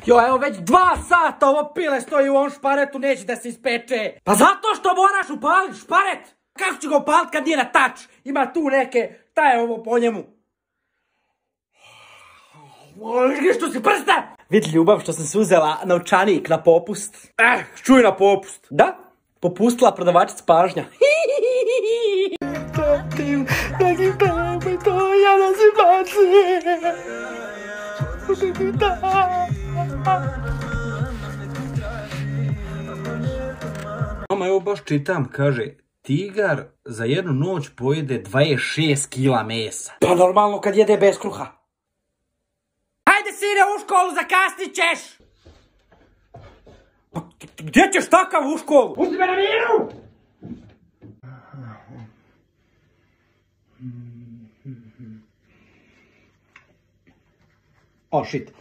Jo, evo već 2 sata ovo pile stoji u ovom šparetu, neće da se ispeče. Pa zato što moraš upaliti šparet. Kako ću ga upaliti kad nije na tač? Ima tu neke, šta je ovo po njemu? Što si prsta? Vidi ljubav što sam se uzela novčanik na popust. Čuj na popust. Da, popustila prodavačica pažnja. Mama, evo baš čitam, kaže, tigar za jednu noć pojede 26 kila mesa. Pa normalno kad jede bez kruha. Hajde sine u školu, zakasnit ćeš! Pa gdje ćeš takav u školu? Pusti me na miru! Oh shit.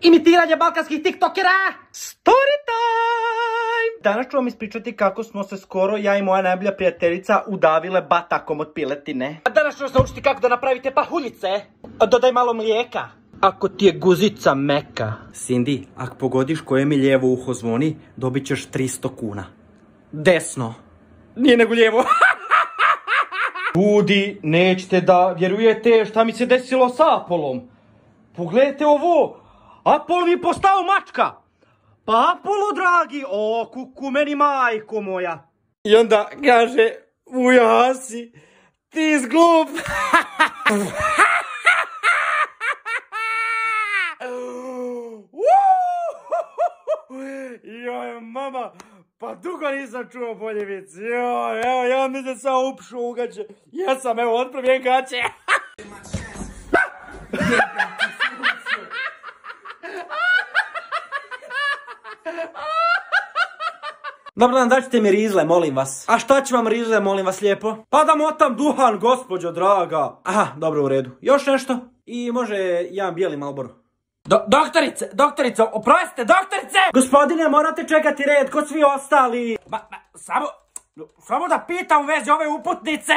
Imitiranje balkanskih tiktokera! Story time! Danas ću vam ispričati kako smo se skoro, ja i moja najbolja prijateljica, udavile batakom od piletine. A danas ću vas naučiti kako da napravite pahuljice. Dodaj malo mlijeka. Ako ti je guzica meka. Cindy, ako pogodiš koje mi lijevo uho zvoni, dobit ćeš 300 kuna. Desno. Nije nego lijevo. Ljudi, nećete da vjerujete šta mi se desilo sa Apolom. Pogledajte ovo. Apol mi postao mačka. Pa Apolo, dragi, o, kuku meni majko moja. I onda kaže, ujasi, ti zglup. Joj, mama, pa dugo nisam čuo bolje vic. Joj, evo, ja mi se sam upšu u gaće. Ja sam, evo, otpravljen gaće. Dobro dan, daćete mi rizle, molim vas. A šta će vam rizle, molim vas lijepo? Pa da motam duhan, gospođo draga. Aha, dobro, u redu. Još nešto? I može jedan bijeli Marlboro. Doktorice, oprostite, doktorice! Gospodine, morate čekati red kod svi ostali. Samo da pitam u vezi ove uputnice.